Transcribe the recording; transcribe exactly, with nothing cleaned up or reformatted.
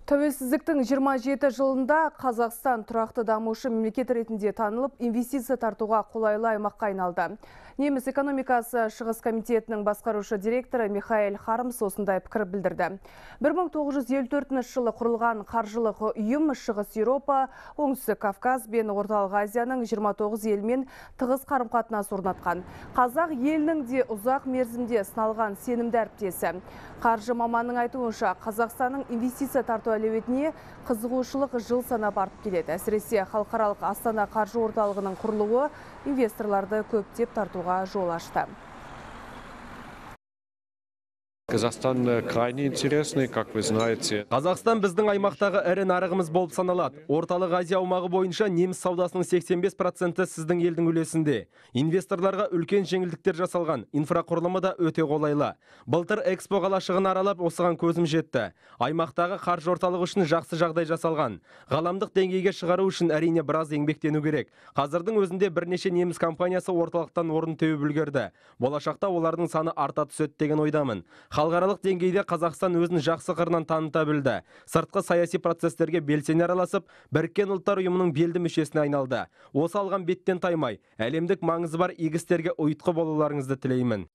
Тәуелсіздіктің жиырма жеті жылында Қазақстан тұрақты дамушы мемлекет ретінде танылып, инвестиция тартуға қолайлы аймаққа айналды. Неміс экономикасы шығыс комитетінің басқарушы директоры Михаэль Хармс осындай пікір білдірді. бір мың тоғыз жүз елу төртінші жылы құрылған қаржылық ұйым Шығыс Еуропа, Оңтүстік Кавказ бен Орталық Азияның жиырма тоғыз елмен тығыз қарым-қатынас орнатқан. Қазақ елінің де ұзақ мерзімде сыналған сенімді әріптесі. Қаржы маманның айтуынша, Қазақстанның инвестиция тарту әлеуетіне қызығушылық жыл санап артып келеді. Әсіресе халықаралық Астана қаржы орталығының құрылуы инвесторларды көптеп тартуға жол ашты. Казахстан крайне интересный, как вы знаете. Қазақстан біздің аймақтағы ірі нарығымыз болып саналады. Орталық Азия аумағы бойынша неміс саудасының сексен бес проценті сіздің елдің үлесінде. Инвесторларға үлкен жеңілдіктер жасалған, инфрақұрылымы да өте қолайлы. Былтыр Экспо қалашығын аралап, осыған көзім жетті. Аймақтағы қаржы орталығы үшін жақсы жағдай жасалған. Ғаламдық деңгейге шығару үшін әрине біраз еңбектену керек. Қазірдің өзінде бірнеше неміс компаниясы орталықтан орын теуіп үлгерді. Болашақта олардың саны арта түседі деген ойдамын. Халықаралық деңгейде Қазақстан өзін жақсы қырынан таныта білді. Сыртқы саяси процестерге белсене араласып, Біріккен ұлттар ұйымының белді мүшесіне айналды. Осы алған беттен таймай, әлемдік маңызы бар игі істерге ұйытқы болуларыңызды тілеймін.